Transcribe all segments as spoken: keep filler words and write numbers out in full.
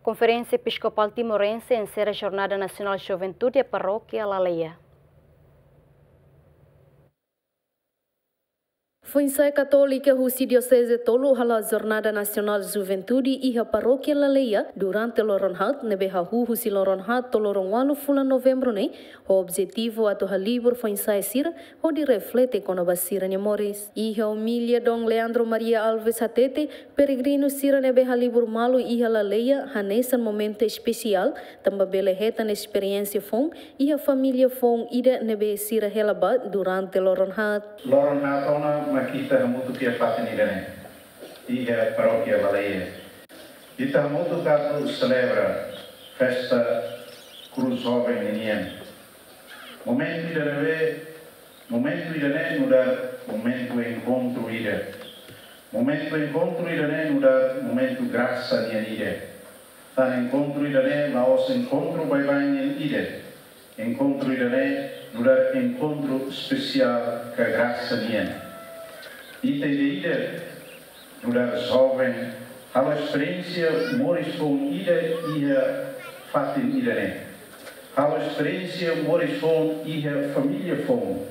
Konferénsia Episkopál Timorense enserra Jornada Nasionál Juventude iha Parókia Laleia. Foinsa'e Katólika husi dioseze tolu hala'o Jornada Nasionál Juventude iha Parókia Laleia durante loron haat ne'ebé hahú husi loron haat to'o loron ualu fulan Novembru ne'e, ho objetivu atu halibur foinsa'e sira hodi reflete kona-ba sira-nia moris. Iha omilia Dom Leandro Maria Alves hatete, peregrinu sira ne'ebé halibur malu iha Laleia hanesan momentu espesiál, tanba bele hetan esperiénsia foun iha família foun ida ne'ebé sira hela ba durante loron haat. Loron haat ona mak ita hamutuk iha fatin ida-ne'e, iha Parókia Laleia. Ita hamutuk atu selebra festa Krús Joven ninian. Momentu ida ne'ebé, momentu ida-ne'e nu'udar momentu enkontru ida. Momentu enkontru ida-ne'e nu'udar momentu grasa nian ida. Tan enkontru ida-ne'e la'ós enkontru baibain nian ida. Enkontru ida-ne'e nu'udar enkontru espesiál ka grasa nian. Ita ida-idak nu'udar joven halo esperiénsia moris foun ida iha fatin ida-ne'e. Halo esperiénsia moris foun iha família foun.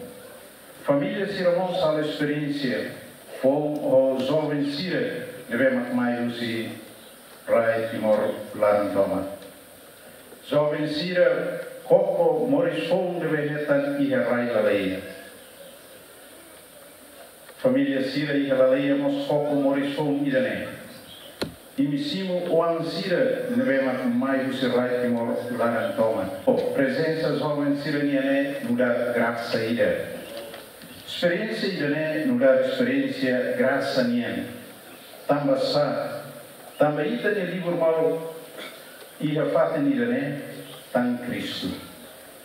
Família sira mós halo esperiénsia foun ho joven sira ne'ebé mak mai husi rai Timor laran tomak. Joven sira koko moris foun ne'ebé hetan iha rai Laleia. Família sira iha Laleia mós koko moris foun ida-ne'e. Imi simu oan sira ne'ebé mak mai husi rai Timor laran tomak. Prezensa joven sira-nian ne'e nu'udar grasa ida. Esperiénsia ida-ne'e nu'udar esperiénsia grasa nian. Tanba sá, tanba ita-nia libur malu iha fatin ida-ne'e tan Kristu.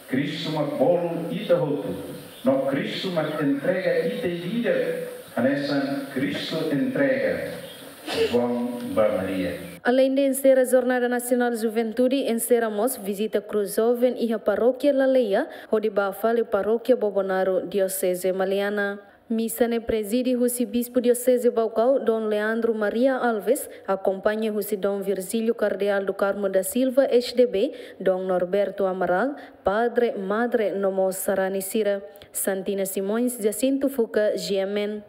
Kristu mak bolu ita hotu, no Kristu mak entrega ita ida-idak hanesan Kristu entrega João ba Maria. Aleinde enserra Jornada Nasionál Juventude, enserra mós vizita Krús Joven iha Parókia Laleia, hodi bá fali Parókia Bobonaro, Dioseze Maliana. Misa ne'e prezide husi Bispu Dioseze Baucau, Dom Leandro Maria Alves, akompaña husi Dom Virgílio Cardeal do Carmo da Silva, S D B, Dom Norberto Amaral, Padre, Madre, no mós sarani sira. Santina Simões, Jacinto Fuca, G M N.